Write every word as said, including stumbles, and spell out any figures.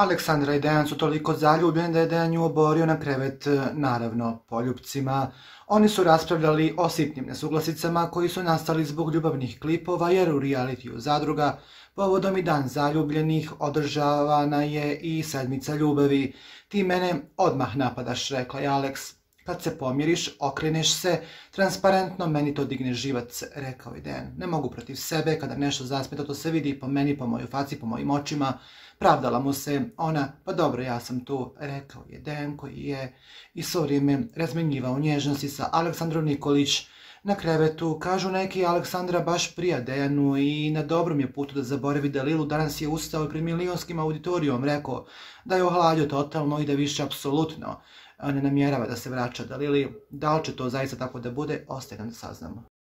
Aleksandra i Dejan su toliko zaljubljeni da je Dejan nju oborio na krevet, naravno, poljupcima. Oni su raspravljali o sitnim nesuglasicama koji su nastali zbog ljubavnih klipova, jer u realitiju zadruga povodom i dan zaljubljenih održavana je i sedmica ljubavi. Ti mene odmah napadaš, rekla je Aleks. Kad se pomiriš, okreneš se, transparentno meni to digne živac, rekao je Dejan. Ne mogu protiv sebe, kada nešto zasmeta, to se vidi po meni, po mojoj faci, po mojim očima. Pravdala mu se ona, pa dobro, ja sam tu, rekao je Dejan, koji je i svo vrijeme razmenjivao nježnosti sa Aleksandrom Nikolić na krevetu. Kažu neki, Aleksandra baš prija Dejanu i na dobrom je putu da zaboravi Dalilu. Danas je ustao i pred milionskim auditorijom rekao da je ohladio totalno i da više apsolutno ne namjerava da se vraća Dalili. Da li će to zaista tako da bude, ostaje nam da saznamo.